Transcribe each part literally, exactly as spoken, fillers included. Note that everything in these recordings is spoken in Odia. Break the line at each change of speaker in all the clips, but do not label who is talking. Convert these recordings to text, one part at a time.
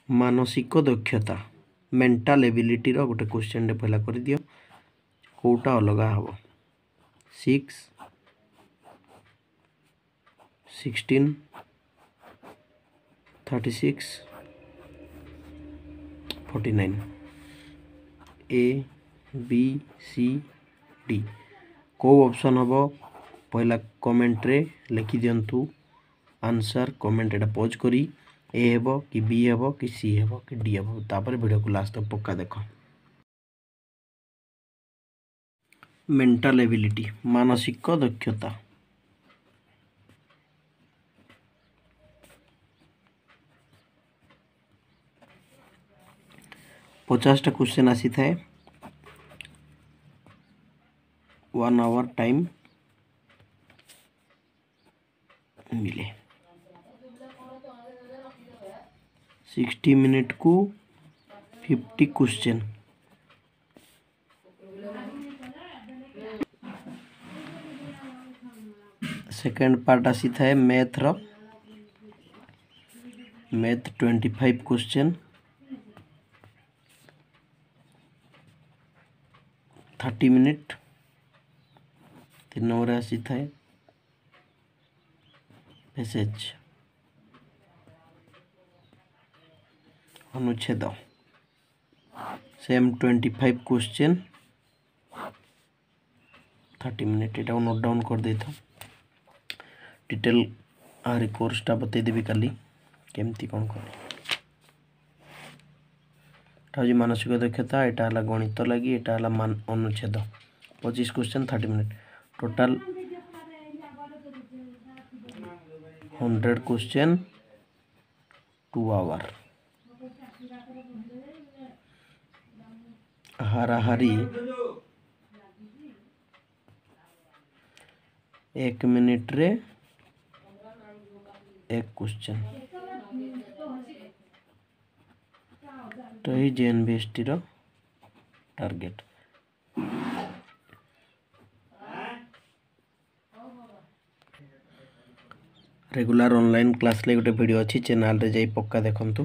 ମାନସିକ ଦକ୍ଷତା ମେଣ୍ଟାଲ ଏବିଲିଟିର ଗୋଟେ କ୍ୱେଶ୍ଚନଟେ ପହିଲା କରିଦିଅ କେଉଁଟା ଅଲଗା ହେବ six sixteen thirty six forty nine A B C D କେଉଁ ଅପସନ୍ ହେବ ପହିଲା କମେଣ୍ଟରେ ଲେଖିଦିଅନ୍ତୁ ଆନ୍ସର୍ କମେଣ୍ଟ ଏଇଟା ପଜ୍ କରି ଏ ହେବ କି ବି ହେବ କି ସି ହେବ କି ଡି ହେବ ତାପରେ ଭିଡ଼ିଓକୁ ଲାଷ୍ଟ ତକ ପକ୍କା ଦେଖ ମେଣ୍ଟାଲ ଏବିଲିଟି ମାନସିକ ଦକ୍ଷତା ପଚାଶଟା କ୍ୱେଶ୍ଚନ୍ ଆସିଥାଏ ୱାନ୍ ଆୱାର ଟାଇମ୍ ମିଳେ ସିକ୍ସଟି ମିନିଟ୍କୁ ଫିଫ୍ଟି କ୍ୱେଶ୍ଚନ୍ ସେକେଣ୍ଡ ପାର୍ଟ ଆସିଥାଏ ମ୍ୟାଥର math twenty five question thirty minute ତିନି ନମ୍ବରରେ ଆସିଥାଏ ପ୍ୟାସେଜ୍ ଅନୁଚ୍ଛେଦ same twenty five question thirty minute ଏଇଟାକୁ ନୋଟ୍ ଡାଉନ୍ କରିଦେଇଥାଅ ଡିଟେଲ୍ ଆହୁରି କୋର୍ସଟା ବତେଇଦେବି କାଲି କେମିତି କ'ଣ କରେ ଏଟା ହେଉଛି ମାନସିକ ଦକ୍ଷତା ଏଇଟା ହେଲା ଗଣିତ ଲାଗି ଏଇଟା ହେଲା ଅନୁଚ୍ଛେଦ ପଚିଶ question thirty minute total hundred question two hour ହାରାହାରି ଏକ ମିନିଟ୍ରେ ଏକ କ୍ୱେଶ୍ଚନ୍ ତ ଏଇ ଜେଏନ୍ଭିଏସ୍ଟିର ଟାର୍ଗେଟ୍ ରେଗୁଲାର ଅନଲାଇନ୍ କ୍ଲାସ୍ ଲାଗି ଗୋଟେ ଭିଡ଼ିଓ ଅଛି ଚ୍ୟାନେଲ୍ରେ ଯାଇ ପକ୍କା ଦେଖନ୍ତୁ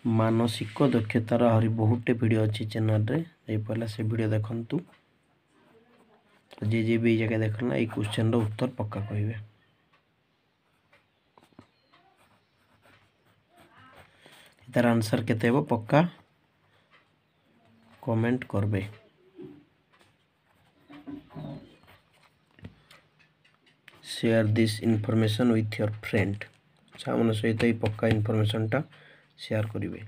ମାନସିକ ଦକ୍ଷତାର ଆହୁରି ବହୁତଟେ ଭିଡ଼ିଓ ଅଛି ଚ୍ୟାନେଲ୍ରେ ଯାଇ ପହିଲା ସେ ଭିଡ଼ିଓ ଦେଖନ୍ତୁ ଯିଏ ଯିଏ ବି ଏଇ ଜାଗା ଦେଖନ୍ତୁ ଏଇ କ୍ୱେଶ୍ଚନ୍ର ଉତ୍ତର ପକ୍କା କହିବେ ତାର ଆନ୍ସର୍ କେତେ ହେବ ପକ୍କା କମେଣ୍ଟ କରବେ share this information with your friend ସାଙ୍ଗମାନଙ୍କ ସହିତ ଏଇ ପକ୍କା ଇନଫର୍ମେସନ୍ଟା ସେୟାର କରିବେ